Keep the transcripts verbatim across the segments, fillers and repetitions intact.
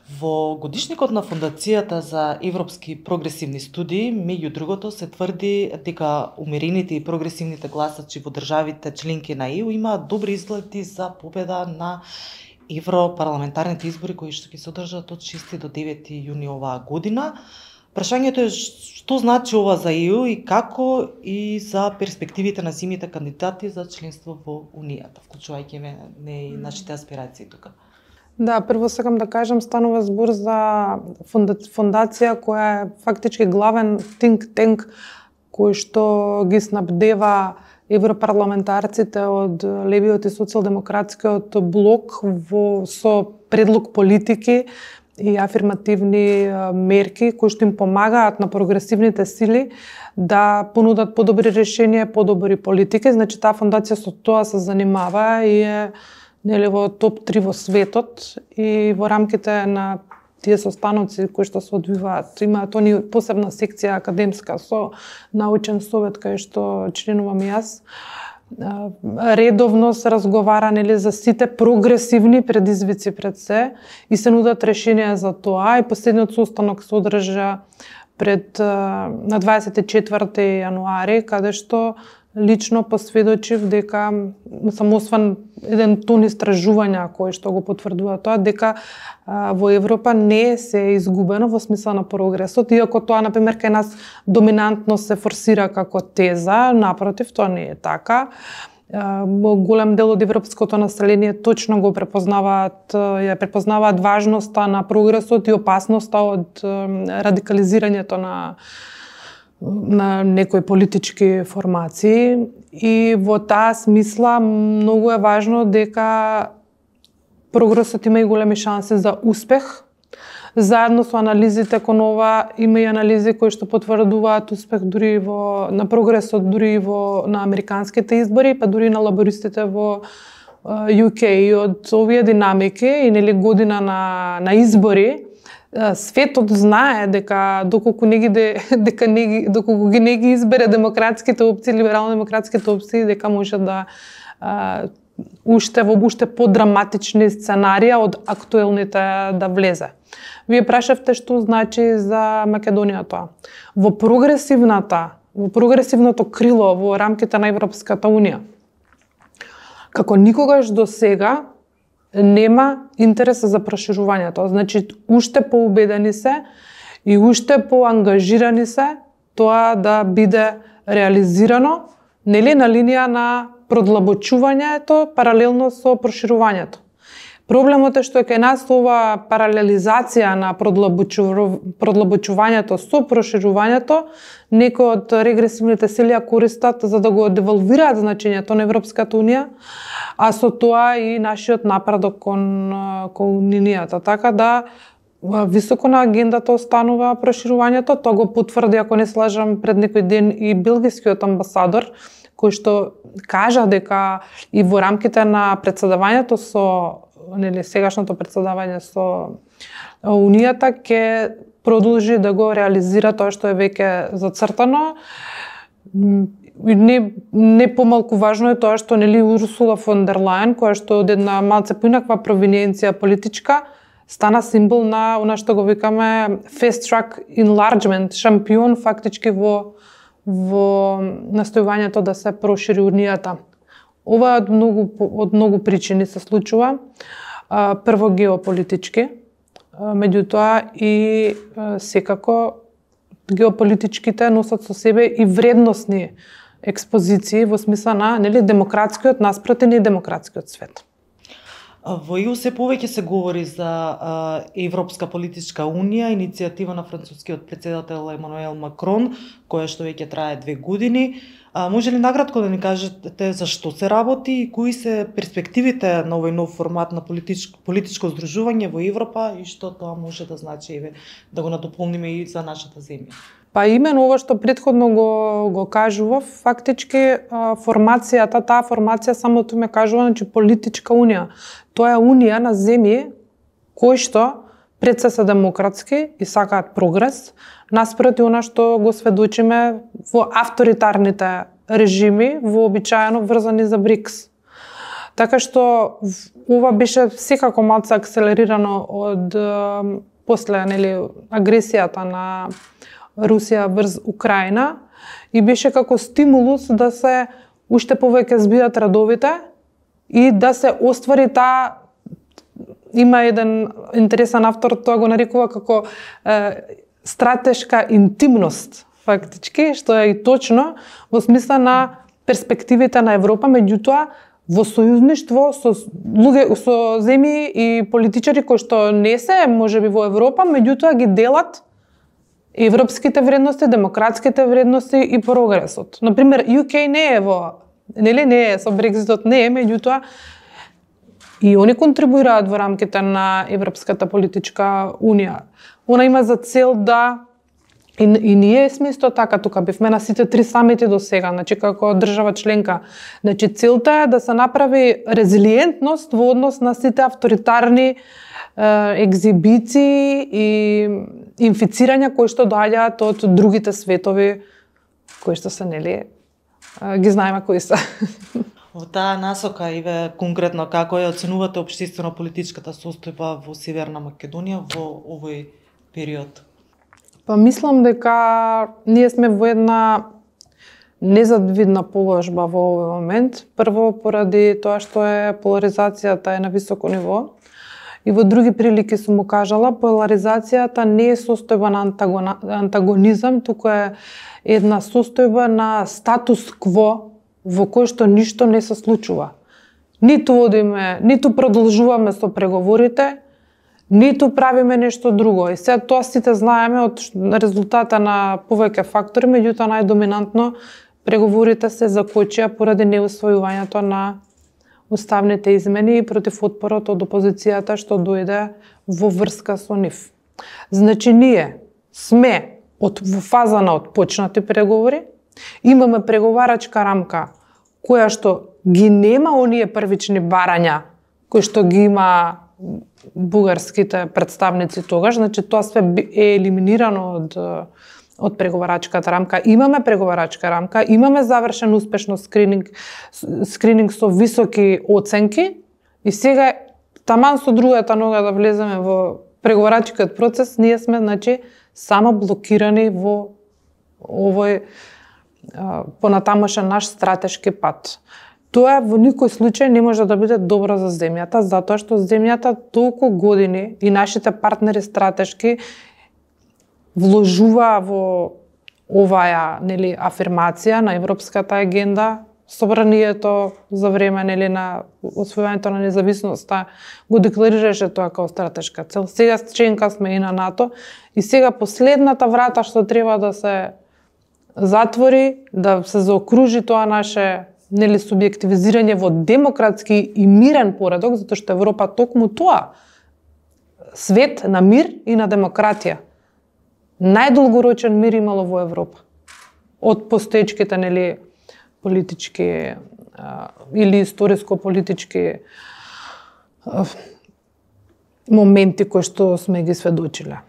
Во годишникот на Фондацијата за европски прогресивни студии, меѓу другото, се тврди дека умерените и прогресивните гласачи во државите членки на Е У имаат добри изгледи за победа на европарламентарните избори кои што ќе се одржат од шести до девети јуни оваа година. Прашањето е што значи ова за Е У и како и за перспективите на земјите кандидати за членство во Унијата, вклучувајќи не и нашите аспирации тука. Да, прво сакам да кажам, станува збор за фондација која е фактички главен think tank кој што ги снабдева европарламентарците од левиот и социјалдемократскиот блок во со предлог политики и афирмативни мерки кои што им помагаат на прогресивните сили да понудат подобри решенија, подобри политики. Значи таа фондација со тоа се занимава и е нели во топ три во светот и во рамките на тие состаноци кои што се одвиваат. Имаат они посебна секција академска со научен совет кај што членувам и јас. Редовно се разговара нели за сите прогресивни предизвици пред се и се нудат решенија за тоа. И последниот состанок се одржа пред на дваесет и четврти јануари, каде што лично посведочив дека сам освен еден тон истражувања кои што го потврдува тоа, дека а, во Европа не се е изгубено во смисла на прогресот, иако тоа, например, кај нас доминантно се форсира како теза, напротив, тоа не е така. А, голем дел од европското население точно го препознаваат, ја препознаваат важноста на прогресот и опасноста од радикализирањето на на некои политички формации и во таа смисла многу е важно дека прогресот има и големи шанси за успех. Заедно со анализите кон ова има и анализи кои што потврдуваат успех дури во на прогресот дури во на американските избори, па дури на лабористите во Ю Кеј. И од овие динамики и нели година на на избори светот знае дека доколку не ги дека не ги доколку ги не ги избере демократските опции, либерално-демократските опции, дека може да а, уште во уште подраматични сценарија од актуелните да влезе. Вие прашавте што значи за Македонија тоа. Во прогресивната, во прогресивното крило во рамките на Европската унија, како никогаш до сега нема интерес за проширувањето. Значи, уште поубедени се и уште поангажирани се тоа да биде реализирано, нели на линија на продлабочувањето паралелно со проширувањето. Проблемот е што е кај нас ова паралелизација на продлабочувањето со проширувањето, некои од регресивните сили ја користат за да го девалвираат значењето на Европската унија, а со тоа и нашиот напредок кон, кон унијата. Така да високо на агендата останува проширувањето. Тоа го потврди, ако не се лажам, пред некој ден и белгискиот амбасадор, кој што кажа дека и во рамките на председавањето со нели сегашното председавање со Унијата ќе продолжи да го реализира тоа што е веќе зацртано. Не, не помалку важно е тоа што нели Урсула фон дер Лајен, која што од една малце поинаква провиненција политичка, стана символ на она што го викаме fast track enlargement, шампион фактички во во настојувањето да се прошири Унијата. Ова од многу од многу причини се случува. Прво геополитички, меѓутоа и секако геополитичките носат со себе и вредносни експозиции во смисла на нели демократскиот наспроти недемократскиот свет. Во Е У се повеќе се говори за а, Европска политичка унија, иницијатива на францускиот председател Емануел Макрон, која што веќе трае две години. А, може ли награтко да ни кажете за што се работи и кои се перспективите на овој нов формат на политичко, политичко здружување во Европа и што тоа може да значи, еве, да го надополниме и за нашата земја? Па именно ова што претходно го, го кажував, фактички формацијата, таа формација самото ме кажува, значи политичка унија. Тоа е унија на земји кои што пред се се демократски и сакаат прогрес, наспроти она што го сведочиме во авторитарните режими, вообичаено врзани за БРИКС. Така што ова беше секако малку акселерирано од после нели агресијата на Русија врз Украина и беше како стимулус да се уште повеќе збијат радовите и да се оствари таа, има еден интересен автор, тоа го нарекува како е, стратешка интимност, фактички, што е и точно во смисла на перспективите на Европа, меѓутоа во сојузништво со луѓе, со земји и политичари кои што не се можеби во Европа, меѓутоа ги делат европските вредности, демократските вредности и прогресот. Например, ю кей не е во, нели не е со Брекзитот не е, меѓутоа и они контрибуираат во рамките на Европската политичка унија. Она има за цел да и, и ние сме исто така тука бевме на сите три самити до сега, значи како држава членка. Значи целта е да се направи резилиентност во однос на сите авторитарни екзибиции и инфицирања кои што доаѓаат од другите светови кои што се нели ги знаеме кои се. Во таа насока и ве конкретно како ја оценувате општествено-политичката состојба во Северна Македонија во овој период? Па мислам дека ние сме во една незавидна положба во овој момент. Прво поради тоа што е поларизацијата е на високо ниво. И во други прилики сум му кажала, поларизацијата не е состојба на антагонизам, туку е една состојба на статус-кво во кој што ништо не се случува. Ниту одиме, ниту продолжуваме со преговорите, ниту правиме нешто друго. И сега тоа сите знаеме од резултата на повеќе фактори, меѓутоа најдоминантно преговорите се закочија поради неусвојувањето на уставните измени и против отпорот од опозицијата што дојде во врска со нив. Значи ние сме од во фаза на отпочнати преговори, имаме преговарачка рамка која што ги нема оние првични барања кои што ги има бугарските представници тогаш, значи тоа све е елиминирано од од преговарачката рамка. Имаме преговарачка рамка, имаме завршен успешно скрининг, скрининг со високи оценки и сега таман со другата нога да влеземе во преговарачкиот процес, ние сме значи само блокирани во овој понатамошен наш стратешки пат. Тоа во никој случај не може да биде добро за земјата, затоа што земјата толку години и нашите партнери стратешки вложува во оваа нели афирмација на европската агенда, собранието за време нели на освојувањето на независноста го декларираше тоа како стратешка цел. Сега членка сме и на НАТО и сега последната врата што треба да се затвори, да се заокружи тоа наше нели субјективизирање во демократски и мирен поредок, затоа што Европа токму тоа свет на мир и на демократија. Најдолгорочен мир имало во Европа. Од постоечките нели политички а, или историско-политички а, моменти кои што сме ги сведочиле.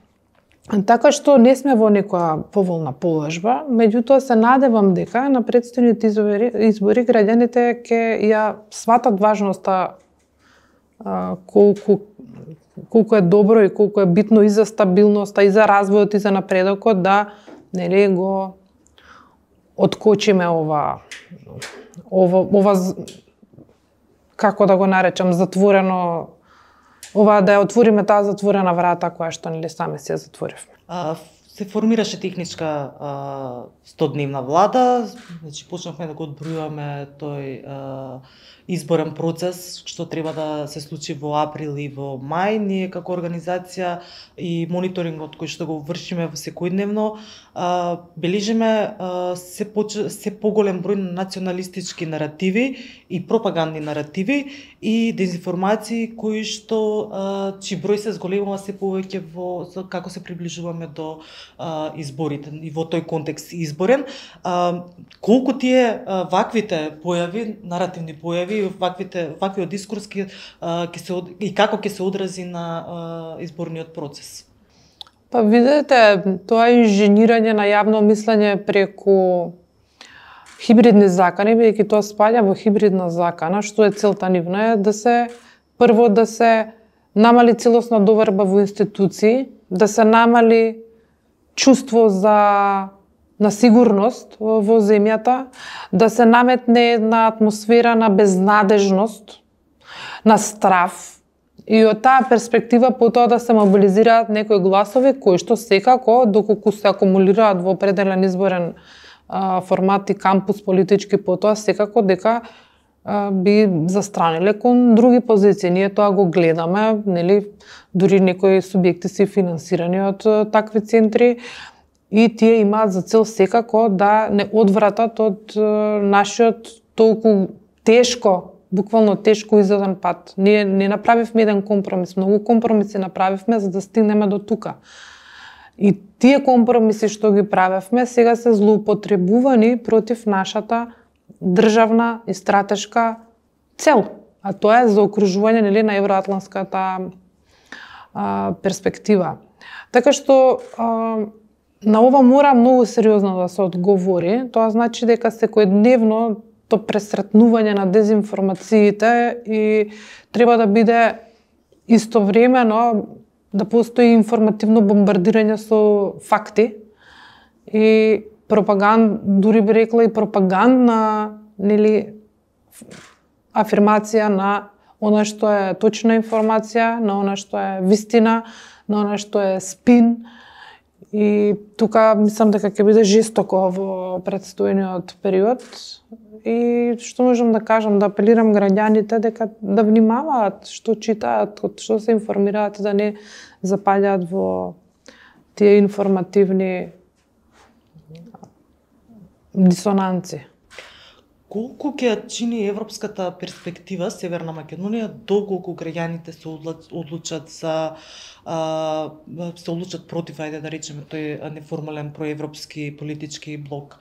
Така што не сме во некоја поволна положба, меѓутоа се надевам дека на претстојните избори, избори граѓаните ќе ја сватат важноста а, колку колку е добро и колку е битно и за стабилноста, и за развојот, и за напредокот да нели го откочиме ова ова ова како да го наречам затворено ова да ја отвориме таа затворена врата која што нели сами си ја затворивме. А, се формираше техничка а, стодневна влада, значи почнавме да го одбројуваме тој а, изборен процес што треба да се случи во април и во мај. Ние како организација и мониторингот кој што го вршиме во секојдневно а, бележиме а, се, поч... се поголем број на националистички наративи и пропагандни наративи и дезинформации кои што а, чии број се зголемува се повеќе во како се приближуваме до а, изборите и во тој контекст изборен. А, колку тие а, ваквите појави, наративни појави, ваквите ваквиот дискурс ќе ќе се и како ќе се одрази на а, изборниот процес? Па видете, тоа инженирање на јавно мислење преку хибридни закани, бидејќи тоа спаѓа во хибридна закана, што е целта нивна е да се прво да се намали целосна доверба во институции, да се намали чувство за на сигурност во земјата, да се наметне една атмосфера на безнадежност, на страф, и од таа перспектива потоа да се мобилизираат некои гласови кои што секако, доколку се акумулираат во определен изборен а, формат и кампус политички потоа, секако дека а, би застраниле кон други позиции. Ние тоа го гледаме, нели, дури некои субјекти се финансирани од а, такви центри, и тие имаат за цел секако да не одвратат од а, нашиот толку тешко, буквално тешко изеден пат. Ние не направивме еден компромис, многу компромиси направивме за да стигнеме до тука. И тие компромиси што ги правевме сега се злоупотребувани против нашата државна и стратешка цел, а тоа е заокружување, нели, на евроатлантската а, перспектива. Така што а, на ова мора многу сериозно да се одговори. Тоа значи дека секојдневно то пресретнување на дезинформациите и треба да биде истовремено да постои информативно бомбардирање со факти и пропаганд, дури би рекла и пропагандна, нели, афирмација на она што е точна информација, на она што е вистина, на она што е спин. И тука мислам дека ќе биде жестоко во предстојниот период. И што можам да кажам, да апелирам граѓаните дека да внимаваат што читаат, што се информираат, да не запаѓаат во тие информативни дисонанци. Колку ќе чини европската перспектива Северна Македонија доколку граѓаните се одлучат за а, се одлучат против, ајде да речеме, тој неформален проевропски политички блок?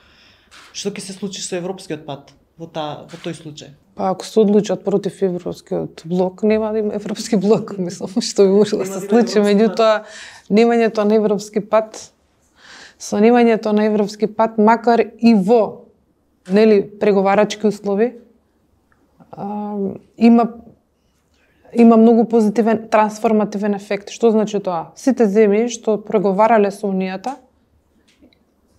Што ќе се случи со европскиот пат во та во тој случај? Па ако се одлучат против европскиот блок, нема да има европски блок, мислам, што би може да се случи. Меѓутоа, немањето на европски пат, со немањето на европски пат, макар и во, нели, преговарачки услови, а, има има многу позитивен трансформативен ефект. Што значи тоа? Сите земји што преговарале со Унијата,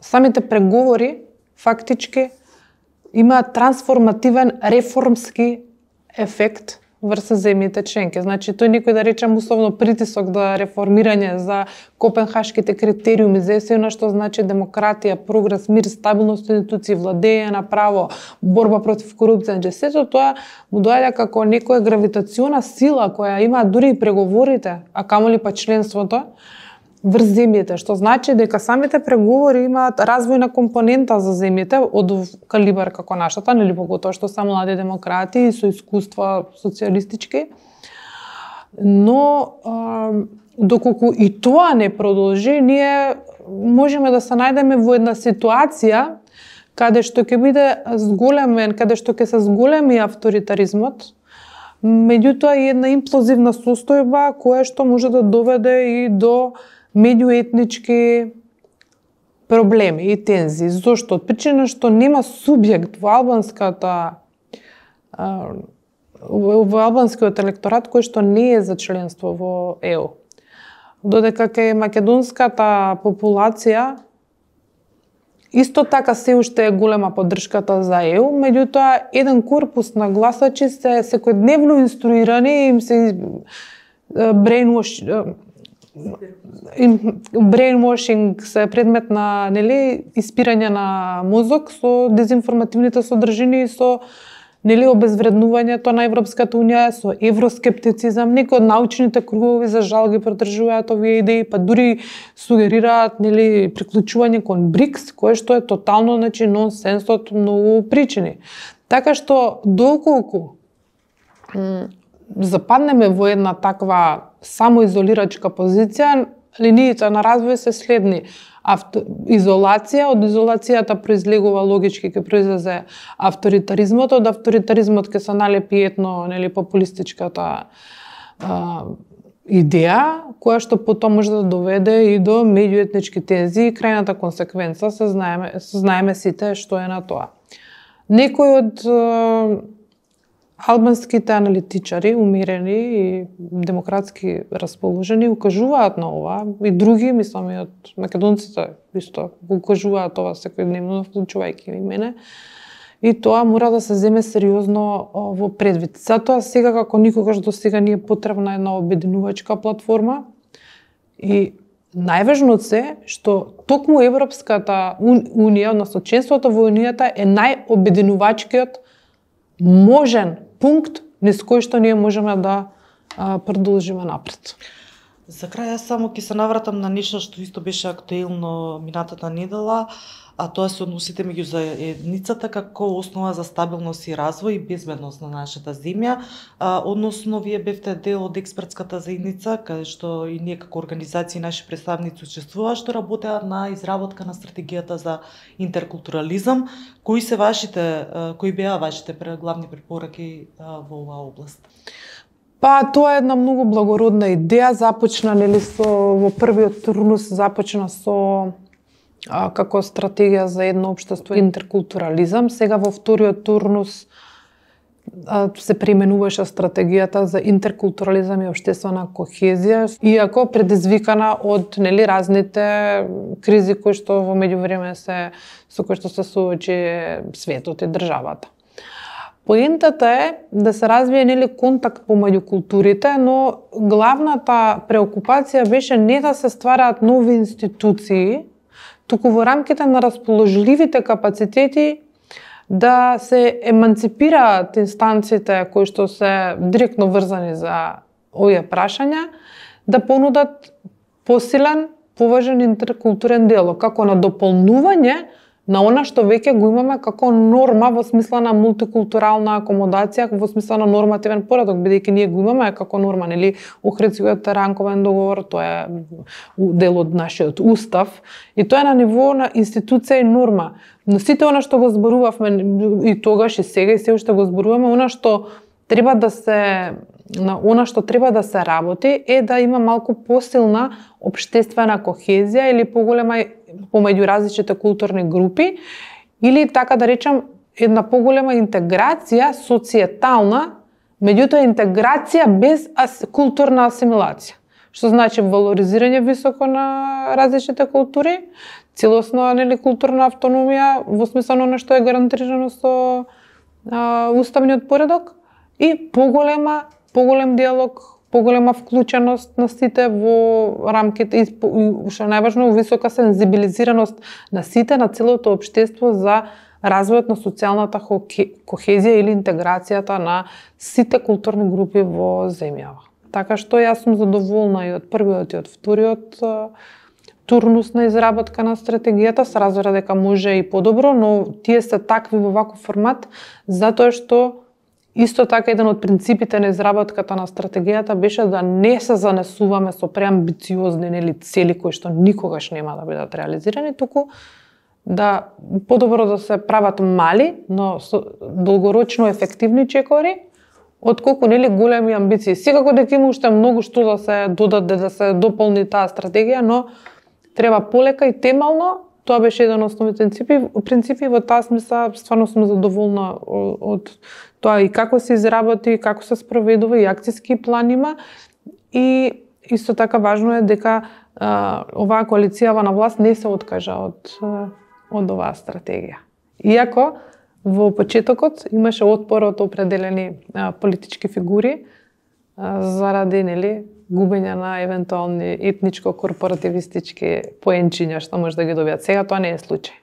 самите преговори фактички имаат трансформативен реформски ефект врз земјите членки. Значи, тој некој да речем условно притисок да реформирање за копенхашките критериуми за ЕС-на, што значи демократија, прогрес, мир, стабилност институции, владење на право, борба против корупција, значи сето тоа му доаѓа како некоја гравитациона сила која има дури и преговорите, а камоли па членството врз земјите, што значи дека самите преговори имаат развојна компонента за земјите од калибар како нашата, нели, поготоа што се млади демократи и со искуства социјалистички. Но а, доколку и тоа не продолжи, ние можеме да се најдеме во една ситуација каде што ќе биде зголемен, каде што ќе се зголеми авторитаризмот, меѓутоа и една имплозивна состојба која што може да доведе и до меѓуетнички проблеми и тензии. Зошто? Од причина што нема субјект во албанската во албанскиот електорат кој што не е за членство во Е У. Додека кај македонската популација исто така се уште е голема поддршката за Е У, меѓутоа еден корпус на гласачи се секојдневно инструирани и им се brainwash brainwashing се предмет на, нели, испирање на мозок со дезинформативните содржини и со, нели, обезвреднувањето на Европската унија, со евроскептицизам. Некои од научните кругови за жал ги поддржуваат овие идеи, па дури сугерираат, нели, приклучување кон БРИКС, кое што е тотално, значи, нонсенс од многу причини. Така што доколку западнеме во една таква самоизолирачка позиција, линиите на развој се следни. Авто... Изолација, од изолацијата произлегува логички ќе произлезе авторитаризмот, од авторитаризмот ќе се налепи етно, нели, популистичката а, идеја, која што потом може да доведе и до меѓуетнички тензии и крајната консеквенца се знаеме, се знаеме сите што е на тоа. Некои од е, албанските аналитичари, умирени и демократски расположени, укажуваат на ова, и други, мислам и од македонците исто укажуваат ова секојдневно, вклучувајќи и мене. И тоа мора да се земе сериозно во предвид. Затоа сега како никогаш до сега ни е потребна една обединувачка платформа и најважно од се што токму Европската унија, односно членството во унијата е најобединувачкиот можен пункт низ кој што ние можеме да а, продолжиме напред. За крај јас само ќе се навратам на нешто што исто беше актуелно минатата недела, а тоа се односите меѓу заедницата како основа за стабилност и развој и безбедност на нашата земја, а, односно вие бевте дел од експертската заедница, каде што и ние како организации наши представници учествуваа, што работеа на изработка на стратегијата за интеркултурализам. Кои се вашите, кои беа вашите главни препораки во оваа област? Па тоа е една многу благородна идеја, започна нели со во првиот турнус започна со а, како стратегија за едно општество интеркултурализам. Сега во вториот турнус а, се преименуваше стратегијата за интеркултурализам и општествена кохезија, иако предизвикана од нели разните кризи кои што во меѓувреме се со кои што се соочи светот и државата. Поентата е да се развие нели контакт помеѓу културите, но главната преокупација беше не да се ствараат нови институции, туку во рамките на расположливите капацитети да се еманципираат инстанциите кои што се директно врзани за овие прашања, да понудат посилен, поважен интеркултурен диалог, како на дополнување на она што веќе го имаме како норма во смисла на мултикултурална акомодација, во смисла на нормативен поредок, бидејќи ние го имаме како норма, нели, Охридскиот ранковен договор, тоа е дел од нашиот устав, и тоа е на ниво на институција и норма. Но сите она што го зборувавме и тогаш и сега и се уште го зборуваме, она што треба да се на она што треба да се работи е да има малку посилна општествена кохезија или поголема помеѓу различните културни групи, или така да речам една поголема интеграција социетална, меѓутоа интеграција без ас, културна асимилација. Што значи валоризирање високо на различните култури, целосна нели културна автономија во смисла на што е гарантирано со а, уставниот поредок и поголема поголем диалог, поголема вклученост на сите во рамките и што најважно висока сензибилизираност на сите, на целото општество за развојот на социјалната кохезија или интеграцијата на сите културни групи во земјава. Така што јас сум задоволна и од првиот и од вториот турнус на изработка на стратегијата, се разбира дека може и подобро, но тие се такви во ваков формат затоа што исто така еден од принципите на изработката на стратегијата беше да не се занесуваме со преамбициозни нели цели кои што никогаш нема да бидат реализирани, туку да подобро да се прават мали, но со долгорочно ефективни чекори, отколку нели големи амбиции. Секако дека има уште многу што да се додаде, да се дополни таа стратегија, но треба полека и темално. Тоа беше еден од основните принципи, принципи во таа смисла стварно сум задоволна од тоа и како се изработи, како се спроведува и акциски план има. И исто така важно е дека а, оваа коалицијава на власт не се откажа од од оваа стратегија. Иако во почетокот имаше отпор од определени а, политички фигури а, заради нели губење на евентуални етничко-корпоративистички поенчиња што може да ги добијат. Сега тоа не е случај.